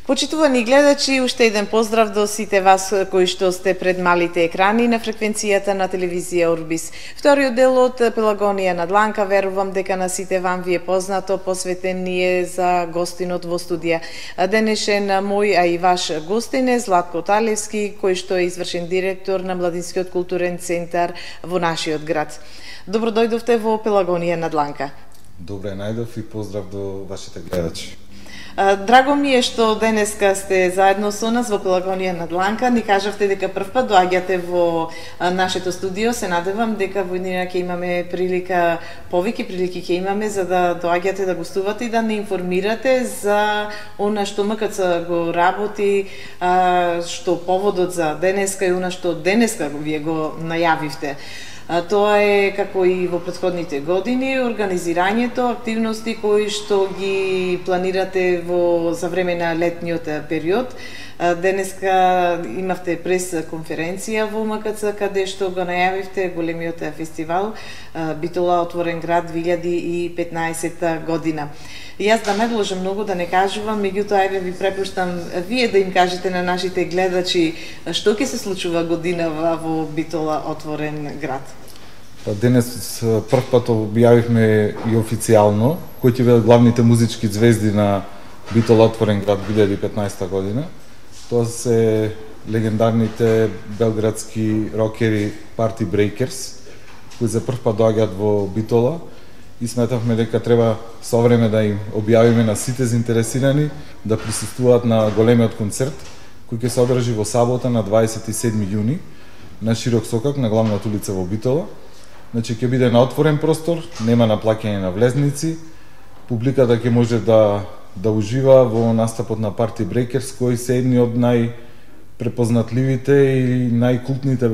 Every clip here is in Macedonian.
Почитувани гледачи, уште еден поздрав до сите вас кои што сте пред малите екрани на фреквенцијата на телевизија Орбис. Вториот дел од Пелагонија на дланка, верувам дека на сите вам ви е познато, посветен ни е за гостинот во студија. Денешен мој, а и ваш гостин е Златко Талевски, кој што е извршен директор на Младинскиот културен центар во нашиот град. Добро дојдовте во Пелагонија на дланка. Добре најдов и поздрав до вашите гледачи. Драго ми е што денеска сте заедно со нас во Пелагонија на дланка. Ни кажавте дека прв пат доаѓате во нашето студио. Се надевам дека во иднина ќе имаме прилика, повеќе прилики ќе имаме за да доаѓате да гостувате и да не информирате за она што МКЦ го работи, што поводот за денеска и она што денеска вие го најавивте. Тоа е, како и во претходните години, организирањето, активности кои што ги планирате за време на летниот период. Денеска имавте прес-конференција во МКЦ, каде што го најавивте големиот фестивал Битола отворен град 2015 година. Јас да не должам многу да не кажувам, меѓутоа еве ви препуштам вие да им кажете на нашите гледачи што ќе се случува годинава во Битола отворен град. Денес прв пат објавивме и официјално кои ќе бидат главните музички звезди на Битола отворен град 2015 година. Тоа се легендарните белградски рокери Party Breakers, кои за прв пат доаѓаат во Битола и сметавме дека треба со време да им објавиме на сите заинтересирани да присуствуваат на големиот концерт кој ќе се одржи во сабота на 27 јуни на Широк сокак на главната улица во Битола. Значи ќе биде на отворен простор, нема на плаќање на влезници. Публиката ќе може да ужива во настапот на Party Breakers, кои се едни од најпрепознатливите и најкултните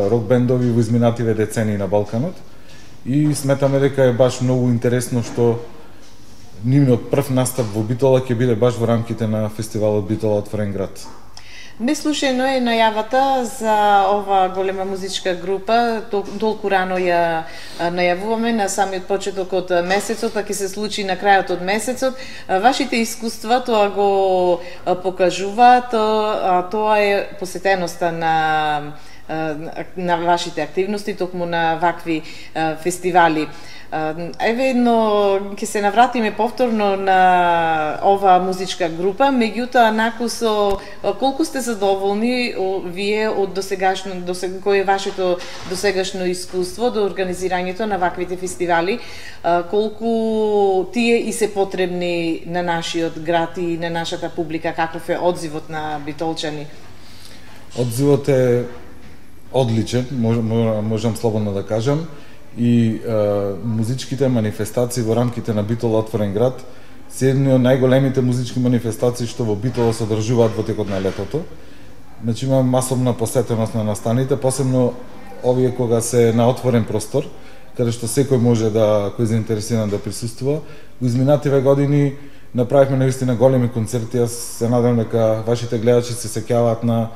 рок бендови во изминативе децении на Балканот. И сметаме дека е баш многу интересно што нивниот прв настап во Битола ќе биде баш во рамките на фестивалот Битола отворен град. Неслушајно е најавата за ова голема музичка група, толку рано ја најавуваме на самиот почеток од месецот, а ќе се случи на крајот од месецот. Вашите искуства тоа го покажуваат, тоа е посетеноста на вашите активности, токму на вакви фестивали. Еве едно ќе се навратиме повторно на ова музичка група, меѓутоа наку со колку сте задоволни вие од кој е вашето досегашно искуство до организирањето на ваквите фестивали, колку тие и се потребни на нашиот град и на нашата публика, каков е одзивот на битолчани? Одзивот е одличен, можам слободно да кажам. И музичките манифестации во рамките на Битола отворен град се едни од најголемите музички манифестации што во Битола се одржуваат во текот на летото. Значи има масовна посетеност на настаните, посебно овие кога се на отворен простор, каде што секој може кој е заинтересиран да присуствува. Во изминативе години направивме навистина големи концерти. Јас се надевам дека вашите гледачи се сеќаваат на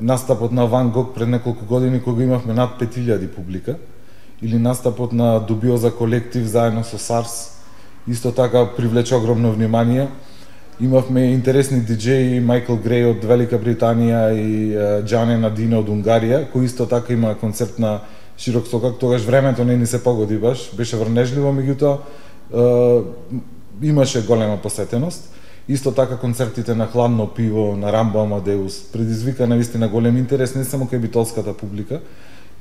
настапот на Ван Гог пред неколку години кога имавме над 5000 публика, или настапот на Дубиоза колектив заедно со Сарс, исто така привлече огромно внимание. Имавме интересни диџеи, Майкл Греј од Велика Британија и Џане Надина од Унгарија, кој исто така има концерт на Широк сокак. Тогаш времето не ни се погоди баш, беше врнежливо, меѓутоа имаше голема посетеност. Исто така концертите на Хладно пиво, на Рамбо Амадеус предизвика навистина голем интерес не само кај битолската публика.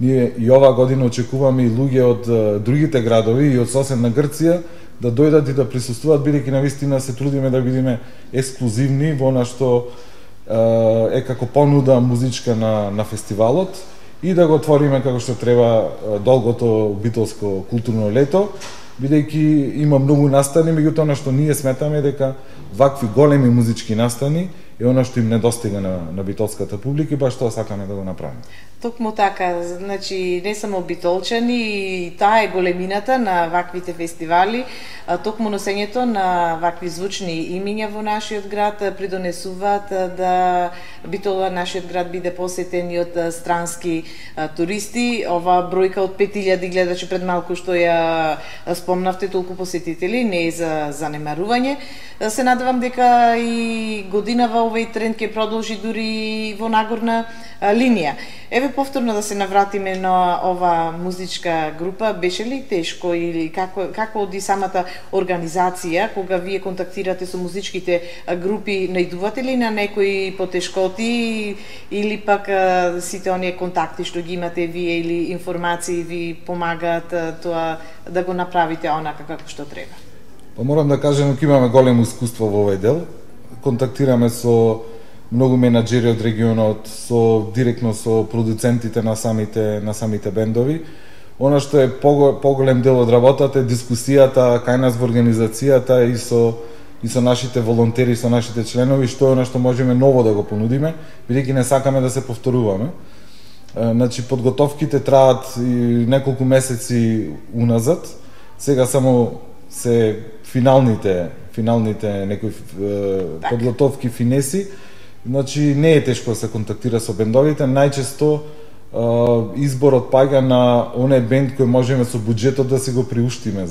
Ние и оваа година очекуваме и луѓе од другите градови и од соседна Грција да дојдат и да присуствуваат, бидејќи навистина се трудиме да бидеме ексклузивни во она што е како понуда музичка на фестивалот и да го отвориме како што треба долгото битолско културно лето, бидејќи има многу настани, меѓутоа она што ние сметаме дека вакви големи музички настани е она што им недостига на битолската публика и баш тоа сакаме да го направиме. Токму така, значи не само битолчани, и таа е големината на ваквите фестивали, токму носењето на вакви звучни имиња во нашиот град придонесуваат да Битола, нашиот град, биде посетен и од странски туристи. Ова бројка од 5000 гледачи пред малку што ја спомнавте, толку посетители, не е за занемарување. Се надевам дека и годинава овој тренд ќе продолжи дури во нагорна линија. Еве повторно да се навратиме на ова музичка група, беше ли тешко или како оди самата организација кога вие контактирате со музичките групи, најдувате ли на некои потешкоти или пак сите оние контакти што ги имате вие или информации ви помагаат тоа да го направите онака како што треба? Па морам да кажам дека имаме големо искуство во овој дел. Контактираме со многу менаџери од регионот, директно со продуцентите на самите бендови. Она што е поголем дел од работата е дискусијата кај нас во организацијата и со нашите волонтери, со нашите членови, што е она што можеме ново да го понудиме, бидејќи не сакаме да се повторуваме. Значи, подготовките траат и неколку месеци уназад. Сега само се финалните некои подготовки, финеси. Значи, не е тешко да се контактира со бендовите. Најчесто изборот паѓа на оној бенд кој можеме со буџетот да се го приуштиме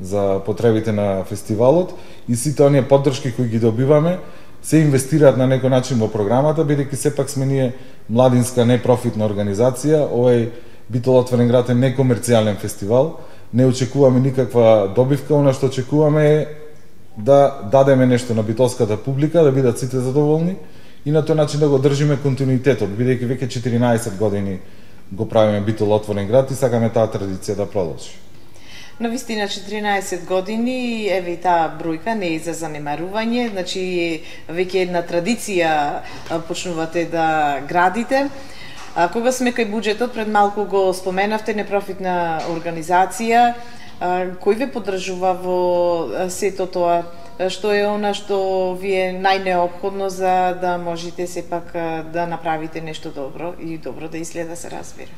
за потребите на фестивалот и сите оние поддршки кои ги добиваме се инвестираат на некој начин во програмата, бидејќи сепак сме ние младинска непрофитна организација. Овој Битол отворен град е некомерцијален фестивал. Не очекуваме никаква добивка, она што очекуваме е да дадеме нешто на битолската публика, да бидат сите задоволни и на тој начин да го држиме континуитетот, бидејќи веќе 14 години го правиме Битол отворен град и сакаме таа традиција да продолжи. На вистина 14 години, еве и таа бројка не е за занемарување, значи веќе една традиција почнувате да градите. Кога сме кај буџетот, пред малку го споменавте, непрофитна организација, кој ве поддржува во сето тоа? Што е она што ви е најнеопходно за да можете сепак да направите нешто добро и добро да изгледа, се разбира?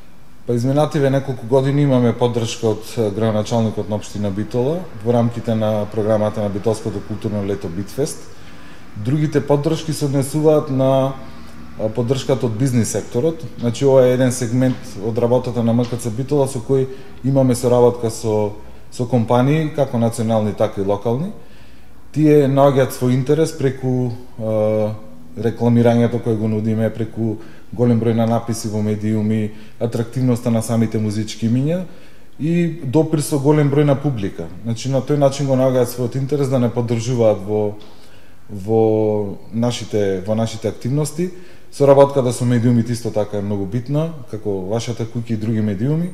Па изминативе неколку години имаме поддршка од градоначалникот на општина Битола во рамките на програмата на Битолското културно лето Битфест. Другите поддршки се однесуваат на поддршката од бизнис секторот. Значи, ова е еден сегмент од работата на МКЦ Битола со кој имаме соработка со компании, како национални, така и локални. Тие наоѓаат свој интерес преку рекламирањето кое го нудиме, преку голем број на написи во медиуми, атрактивноста на самите музички имиња и допир со голем број на публика. Значи, на тој начин го наоѓаат својот интерес да не поддржуваат во нашите активности. Соработката со медиумите исто така е многу битна, како вашата куќа и други медиуми.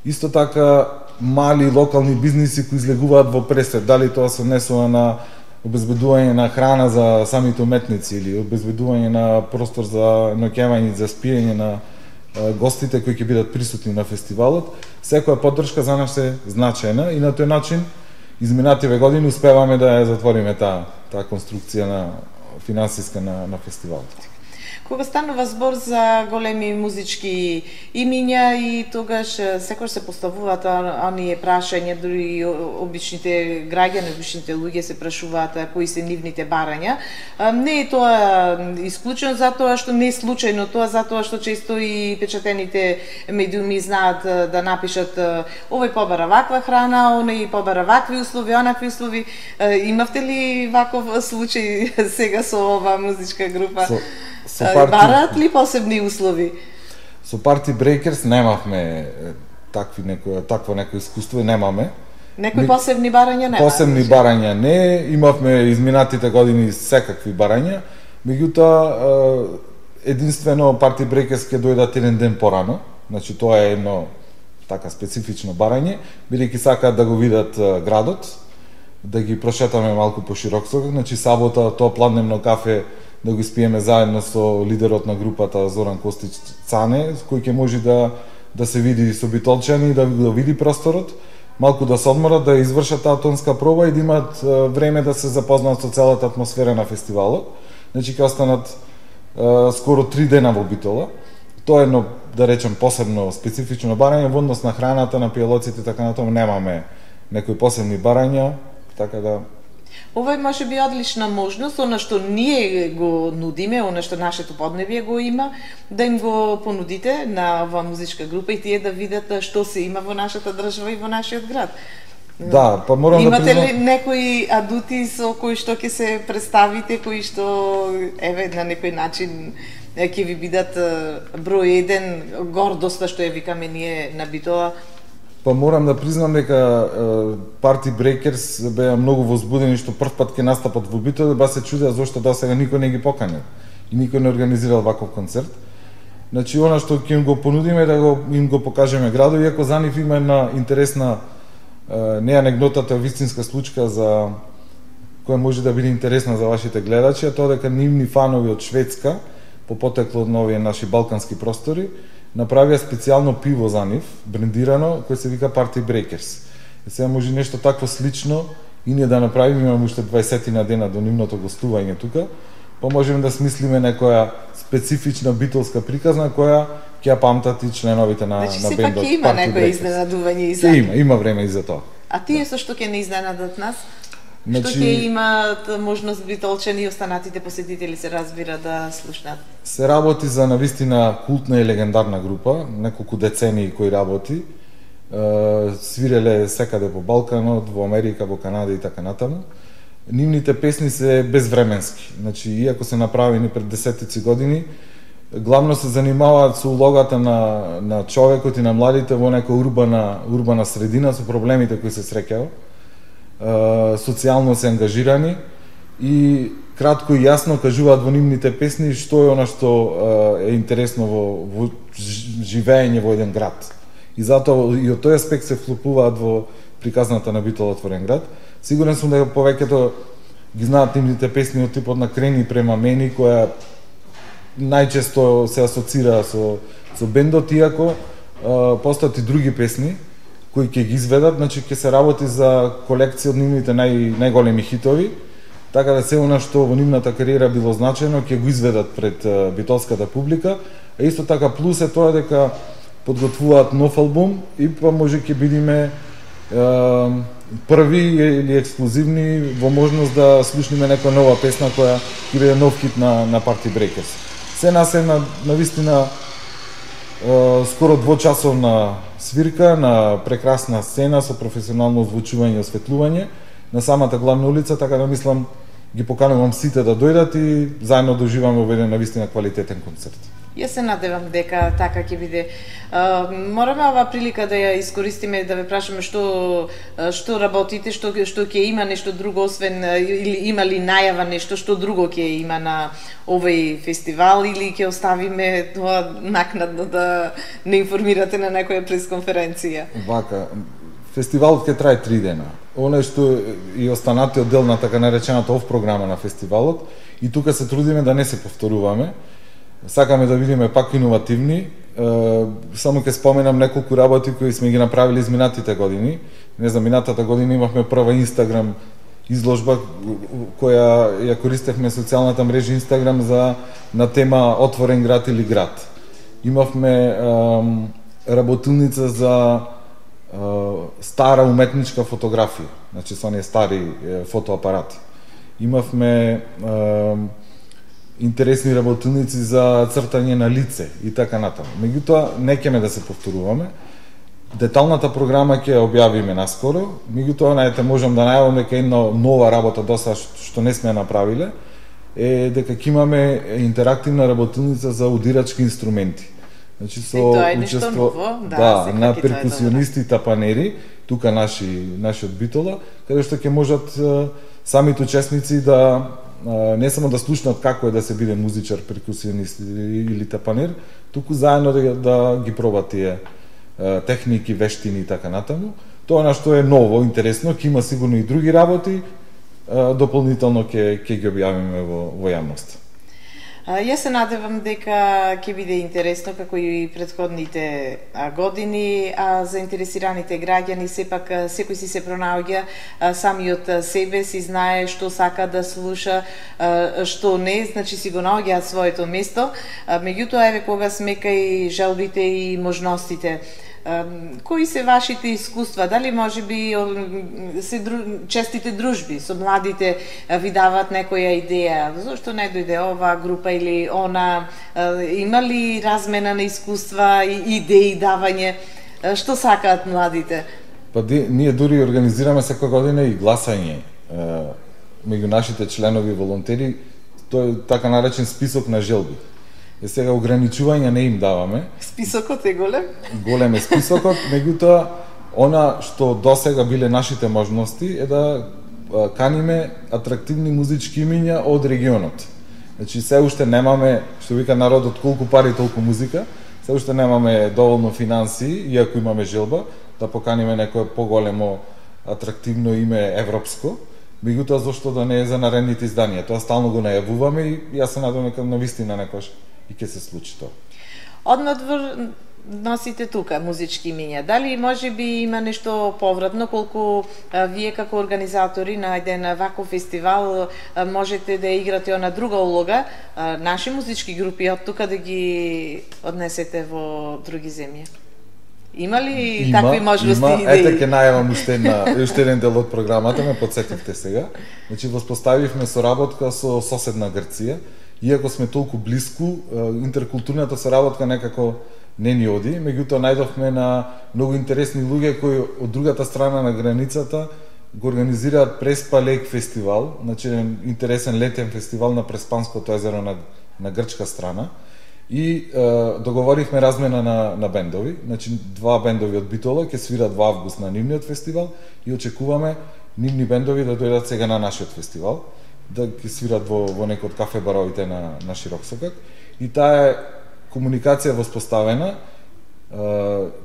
Исто така мали локални бизниси кои излегуваат во пресвет, дали тоа се однесува на обезбедување на храна за самите уметници или обезбедување на простор за ноќевање, за спиење на гостите кои ќе бидат присутни на фестивалот. Секоја поддршка за нас е значајна и на тој начин изминативе години успеваме да ја затвориме таа конструкција на финансиска на фестивалот. Кога станува збор за големи музички имиња и тогаш секогаш се поставуваат оние прашања, дури обичните граѓани, обичните луѓе се прашуваат кои се нивните барања. Не е тоа исклучено затоа што не е случајно тоа, затоа што често и печатените медиуми знаат да напишат овој побара ваква храна, оној побара вакви услови, онакви услови. Имавте ли ваков случај сега со оваа музичка група? Бараат ли посебни услови? Со Party Breakers немавме такво некој искуство, немаме. Некои посебни барања нема? Посебни барања не, имавме изминатите години секакви барања, меѓутоа единствено Party Breakers ќе дојдат еден ден порано, значи тоа е едно така специфично барање, бидејќи сакаат да го видат градот, да ги прошетаме малку по широк сокак, значи сабота тоа пладневно кафе да го испиеме заедно со лидерот на групата Зоран Костич Цане, кој ќе може да се види со битолчани, да види просторот, малку да се одморат, да извршат таа тонска проба и да имат време да се запознаат со целата атмосфера на фестивалот. Значи ќе останат скоро 3 дена во Битола. Тоа е едно, да речем, посебно специфично барање во однос на храната, на пијалоците, така натаму немаме некои посебни барања, така да. Ова е може би одлична можност, она што ние го нудиме, она што нашето поднебие го има, да им го понудите на оваа музичка група и тие да видат што се има во нашата држава и во нашиот град. Да, па морам Имате да признам... ли некои адути со кои што ќе се представите, кои што еве на некој начин ќе ви бидат број 1 гордоста што ја викаме ние на Битола? Па морам да признам дека Party Breakers беа многу возбудени што прв пат ќе настапат во Битола, ба се чудеа зошто до сега никој не ги поканил и никој не организирал ваков концерт. Значи, она што ќе им го понудиме да им го покажеме градот, иако за нив има една интересна не анегдотата, вистинска случка за која може да биде интересна за вашите гледачи, а тоа дека нивни фанови од Шведска, по потекло од нови наши балкански простори, направија специјално пиво за нив, брендирано, кој се вика Party Breakers. И сега може нешто такво слично и ние да направиме, имаме уште 20 на дена до нивното гостување тука, па можеме да смислиме некоја специфична битолска приказна која ќе ја памтат и членовите на бендот. Значи сепак ќе има некој изненадување и за. Има време и за тоа. А тие со што ќе не изненадат нас? Значи, што ќе имат можност битолчани и останатите посетители се разбира да слушнат? Се работи за навистина култна и легендарна група, неколку децении кои работи. Свиреле секаде по Балканот, во Америка, во Канада и така натаму. Нивните песни се безвременски. Значи, иако се направени пред десетици години, главно се занимаваат со улогата на човекот и на младите во нека урбана средина со проблемите кои се среќава. Социјално се ангажирани и кратко и јасно кажуваат во нивните песни што е она што е интересно во живење во еден град. И затоа и од тој аспект се вклопуваат во приказната на Битола отворен град. Сигурен сум дека повеќето ги знаат нивните песни од типот на Крени према мене, која најчесто се асоцира со бендот, иако постојат и други песни кои ќе ги изведат, значи ќе се работи за колекција од нивните најголеми хитови, така да се она што во нивната кариера било значено ќе го изведат пред битолската публика, а исто така плюс е тоа дека подготвуваат нов албум и па може ќе бидиме први или ексклузивни во можност да слушнеме некоја нова песна која ќе биде нов хит на Party Breakers. Се нас е на вистина скоро двочасовна свирка на прекрасна сцена со професионално озвучување и осветлување на самата главна улица, така да мислам ги поканувам сите да дојдат и заедно да уживаме во еден навистина квалитетен концерт. Јас се надевам дека така ќе биде. Мораме оваа прилика да ја искористиме да ве прашаме што работите, што ќе има нешто друго освен или има ли најава нешто што друго ќе има на овој фестивал или ќе оставиме тоа накнадно да не информирате на некоја пресконференција. Вака, фестивалот ќе трае 3 дена. Оно што и останатиот дел на така наречената оф програма на фестивалот, и тука се трудиме да не се повторуваме. Сакаме да бидеме пак иновативни. Само ќе споменам неколку работи кои сме ги направили изминатите години. Не знам, минатата година имавме прва Инстаграм изложба која ја користевме социјалната мрежа Инстаграм на тема отворен град или град. Имавме работилница за стара уметничка фотографија, значи со оние стари фотоапарати. Имавме интересни работилници за цртање на лице и така натаму. Меѓутоа, не ќеме да се повторуваме. Деталната програма ќе ја објавиме наскоро. Меѓутоа, најте можам да најавам дека една нова работа доста што не сме направиле е дека ќе имаме интерактивна работилница за удирачки инструменти. Значи со учество на перкусионисти и тапанери, тука нашиот Битола, каде што ќе можат самите учесници да не само да слушнат како е да се биде музичар, перкусионист или тапанер, туку заедно да ги пробат тие техники, вештини и така натаму. Тоа на што е ново, интересно, ќе има сигурно и други работи, дополнително ќе ги објавиме во јавност. Јас се надевам дека ќе биде интересно како и претходните години, а заинтересираните граѓани сепак секој си се пронаоѓа самиот себе, си знае што сака да слуша, што не, значи си го наоѓа своето место. Меѓутоа еве кога сме кај желбите и можностите, кои се вашите искуства? Дали можеби честите дружби со младите ви дават некоја идеја? Зошто не дојде оваа група или она? Има ли размена на искуства и идеи давање? Што сакаат младите? Па ние дури организираме секоја година и гласање меѓу нашите членови волонтери, тој е така наречен список на желби. Сега ограничувања не им даваме. Списокот е голем? Голем е списокот, меѓутоа она што досега биле нашите можности е да каниме атрактивни музички имиња од регионот. Значи се уште немаме, што вика народот, колку пари толку музика, се уште немаме доволно финансии, иако имаме желба да поканиме некое поголемо атрактивно име европско, меѓутоа зошто да не е за наредните изданија. Тоа стално го најавуваме и јас се надевам дека навистина некош и ќе се случи тоа. Однадвор носите тука музички имиња. Дали може би има нешто повратно, колку вие како организатори на еден ваков фестивал можете да играте она друга улога, наши музички групи од тука да ги однесете во други земји? Има ли такви можности и идеи? Ете ќе најавам уште еден дел од програмата, ме потсетивте сега. Значи воспоставивме соработка со соседна Грција, иако сме толку блиску, интеркултурната соработка некако не ни оди, меѓутоа најдовме на многу интересни луѓе кои од другата страна на границата го организираат Преспа Лейк фестивал, значи интересен летен фестивал на Преспанското езеро на грчка страна. И договоривме размена на бендови, значи два бендови од Битола ќе свират во август на нивниот фестивал и очекуваме нивни бендови да дојдат сега на нашиот фестивал, да ќе свират во некој од кафе баровите на Широк сокак. И таа комуникација воспоставена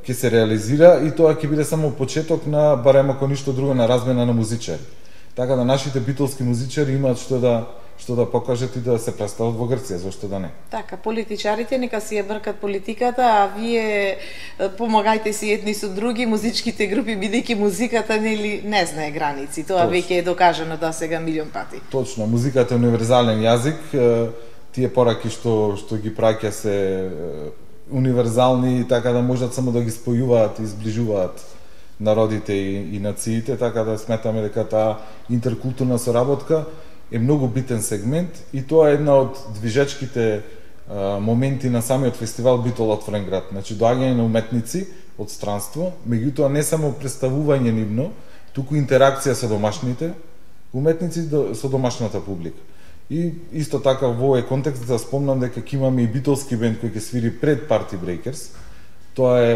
ќе се реализира и тоа ќе биде само почеток на, барем ако ништо друго, на размена на музичари. Така да нашите битолски музичари имаат што да покажат и да се представат во Грција, зошто да не. Така, политичарите нека си ја бркат политиката, а вие помагајте си едни со други, музичките групи, бидејќи музиката не знае граници. Тоа веќе е докажано досега милион пати. Точно, музиката е универзален јазик, тие пораки што ги праќа се универзални, така да можат само да ги спојуваат и изближуваат народите и нациите, така да сметаме дека таа интеркултурна соработка е многу битен сегмент и тоа е една од движечките моменти на самиот фестивал Битол отворен град. Значи доаѓање на уметници од странство, меѓутоа не само представување нивно, туку интеракција со домашните уметници со домашната публика. И исто така во овој контекст да спомнам дека ќе имаме и битолски бенд кој ќе свири пред Party Breakers. Тоа е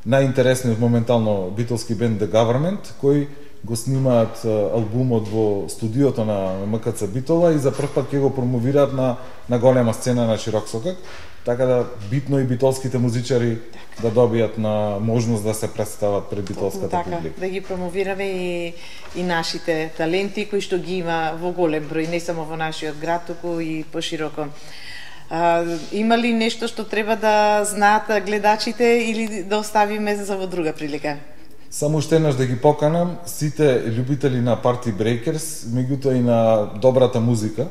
најинтересниот моментално битолски бенд The Government, кој го снимаат албумот во студиото на МКЦ Битола и за прв пат ќе го промовираат на голема сцена на Широк сокак, така да битно и битолските музичари да добијат на можност да се представат пред битолската публика. Да ги промовираме и нашите таленти кои што ги има во голем број, не само во нашиот град, туку и пошироко. Има ли нешто што треба да знаат гледачите или да оставиме за во друга прилика? Само уште еднаш да ги поканам сите љубители на Party Breakers, меѓутоа и на добрата музика,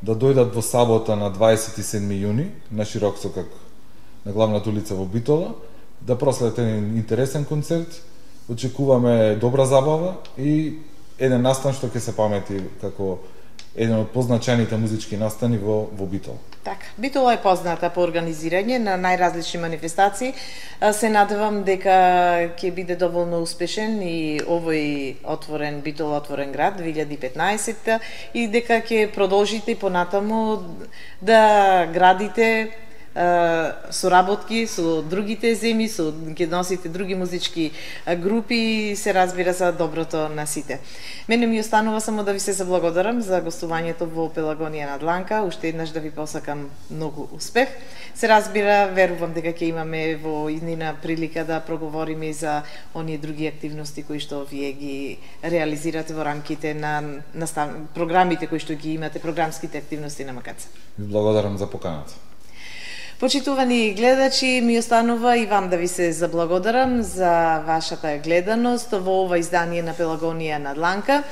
да дојдат во сабота на 27 јуни на Широк сокак на главната улица во Битола, да проследат еден интересен концерт. Очекуваме добра забава и еден настан што ќе се памети како еден од позначајните музички настани во Битола. Така, Битола е позната по организирање на најразлични манифестации. Се надевам дека ќе биде доволно успешен и овој отворен Битола отворен град 2015 и дека ќе продолжите и понатаму да градите соработки со другите земји, ќе носите други музички групи, се разбира за доброто на сите. Мене ми останува само да ви се заблагодарам за гостувањето во Пелагонија на Дланка, уште еднаш да ви посакам многу успех. Се разбира, верувам дека ќе имаме во иднина прилика да проговориме и за оние други активности кои што вие ги реализирате во рамките на програмите кои што ги имате, програмските активности на МКЦ. Ви благодарам за поканата. Почитувани гледачи, ми останува и вам да ви се заблагодарам за вашата гледаност во ова издание на Пелагонија на Дланка.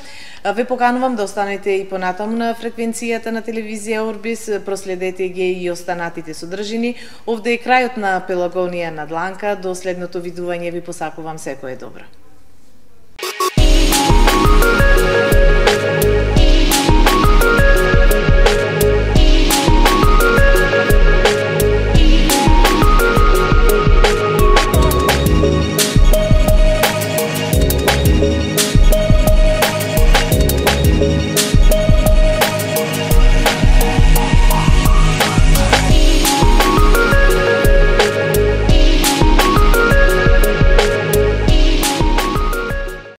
Ве поканувам да останете и понатаму на фреквенцијата на телевизија Орбис, проследете ги и останатите содржини. Овде е крајот на Пелагонија на Дланка, до следното видување ви посакувам секое добро.